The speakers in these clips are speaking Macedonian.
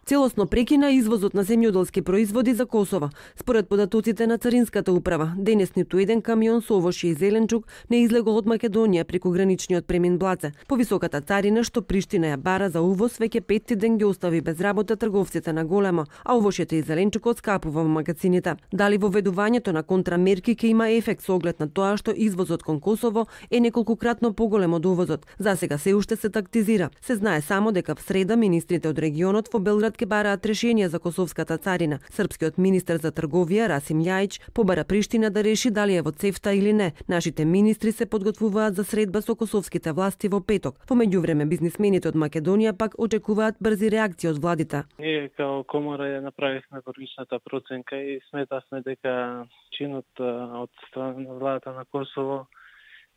Целосно прекина извозот на земјоделски производи за Косово. Според податоците на Царинската управа, денес ниту еден камион со овошје и зеленчук не излегол од Македонија преку граничниот премин Блаце. Повисоката царина што Приштина ја бара за увоз веќе 5 ден ги остави без работа трговците на големо, а овошјето и зеленчукот скапува во магазините. Дали воведувањето на контрамерки ќе има ефект со оглед на тоа што извозот кон Косово е неколкократно поголем од увозот? Засега се уште се тактизира. Се знае само дека в среда министрите од регионот во Белград ќе бараат решение за косовската царина. Српскиот министер за трговија Расим Љајич побара Приштина да реши дали е во цефта или не. Нашите министри се подготвуваат за средба со косовските власти во петок. Во меѓувреме бизнисмените од Македонија пак очекуваат брзи реакции од владите. Ние као комора ја направивме првичната проценка и сметавме дека чинот од страна на владата на Косово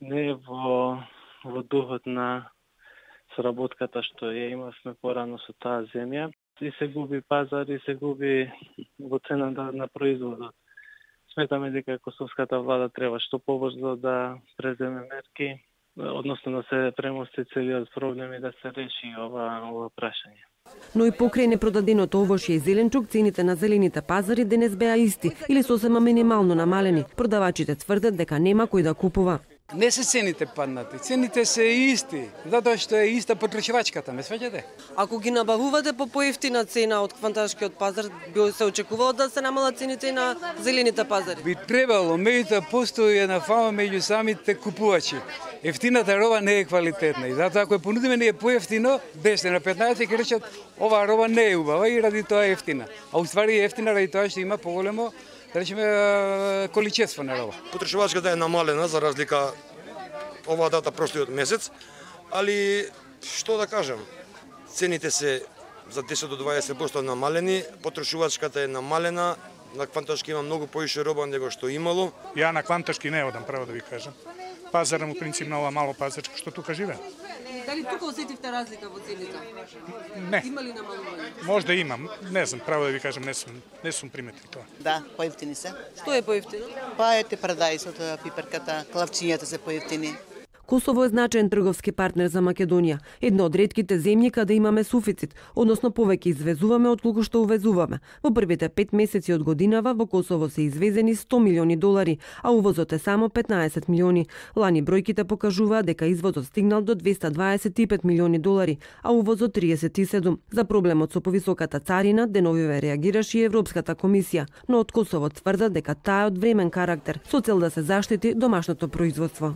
не е во духот на сработката што ја имавме порано со таа земја. И се губи пазар, и се губи во цена на производот. Сметаме дека косовската влада треба што побрзо да преземе мерки, односно да се премости целиот проблем и да се реши ова прашање. Но и покрај непродаденото овошје и зеленчук, цените на зелените пазари денес беа исти или сосема минимално намалени. Продавачите тврдат дека нема кој да купува. Не се цените паднати, цените се исти, затоа што е иста потрошувачката, ме сваќате? Ако ги набавувате по поевтина цена од кванташкиот пазар, би се очекувало да се намалат цените на зелените пазари? Би требало, меѓутоа постои една фама меѓу самите купувачи. Ефтината роба не е квалитетна и затоа ако ја понудиме ние поевтино, 10 на 15 ќе речат оваа роба не е убава и ради тоа е ефтина. А уствари е ефтина ради тоа што има поголемо, да речеме, количество на роба. Потрошувачката е намалена за разлика оваа дата прошлиот месец, али што да кажам, цените се за 10 до 20% намалени, потрошувачката е намалена, на кванташки има многу поише роба него што имало. Ја на кванташки не одам, право да ви кажам. Пазарам у принцип на ова мало пазарче што тука живеам. Дали тука осетивте разлика во цените? Не. Има ли намалување? Можда имам, не знам, право да ви кажам, не сум приметил тоа. Да, поевтини се. Што е поевтино? Па ете парадајсот, пиперката, клавчињата се поевтини. Косово е значаен трговски партнер за Македонија, една од ретките земји каде имаме суфицит, односно повеќе извезуваме отколку што увезуваме. Во првите 5 месеци од годинава во Косово се извезени $100 милиони, а увозот е само 15 милиони. Лани бројките покажуваат дека извозот стигнал до $225 милиони, а увозот 37. За проблемот со повисоката царина деновиве реагираше и Европската комисија, но од Косово тврдат дека таа е од времен карактер, со цел да се заштити домашното производство.